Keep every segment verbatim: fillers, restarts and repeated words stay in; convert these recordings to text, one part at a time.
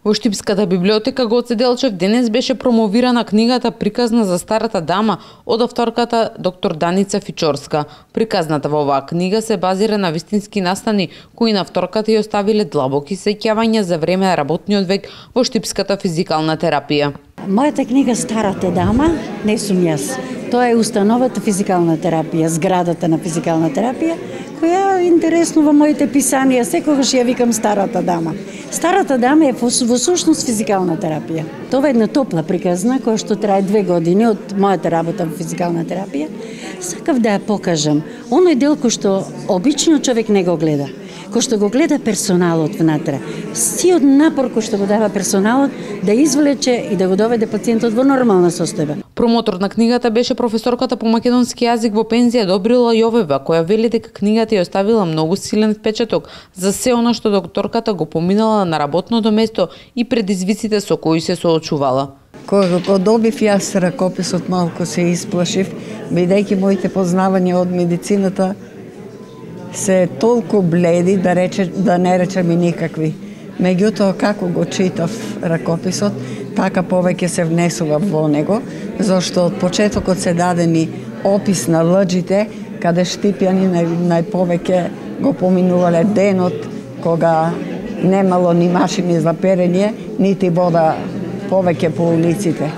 Во Штипската библиотека Гоце Делчев денес беше промовирана книгата Приказна за старата дама од авторката доктор Даница Фичорска. Приказната во оваа книга се базира на вистински настани кои на авторката ја оставиле длабоки сеќавања за време на работниот век во штипската физикална терапија. Мојата книга Старата дама не сум јас. Тоа е установата физикална терапија, зградата на физикална терапија, која е интересно во моите писанија, секогаш ја викам Старата дама. Старата дама е во сушност физикална терапија. Тоа е една топла приказна која што трае две години од мојата работа во физикална терапија. Сакав да ја покажам оној дел кој што обично човек не го гледа, кој што го гледа персоналот внатре. Сиот напор кој што го дава персоналот да извлече и да го доведе пациентот во нормална состојба. Промотор на книгата беше професорката по македонски јазик во пензија Добрила Јовева, која вели дека книгата ја оставила многу силен впечаток за се она што докторката го поминала на работното место и предизвиците со кои се соочувала. Кога го добив јас ракописот, малку се исплашив, бидејќи моите познавања од медицината се толку бледи, да рече, да не речем и никакви. Меѓутоа, како го читав ракописот, така повеќе се внесува во него, зашто од почетокот се дадени опис на лъџите, каде штипјани нај, најповеќе го поминувале денот, кога немало ни машини за перење, нити вода повеќе по улиците.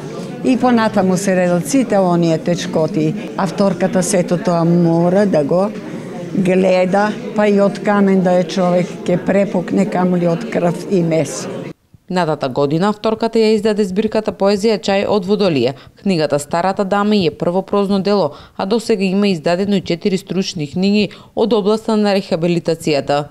И понатаму се редат сите оние течкоти. Авторката сето тоа мора да го гледа, па и од камен да е човек ке препукне, камули од крв и месо. Надата година авторката ја издаде збирката поезија Чај од Водолија. Книгата Старата дама е прво прозно дело, а досега има издадено и четири стручни книги од областа на рехабилитацијата.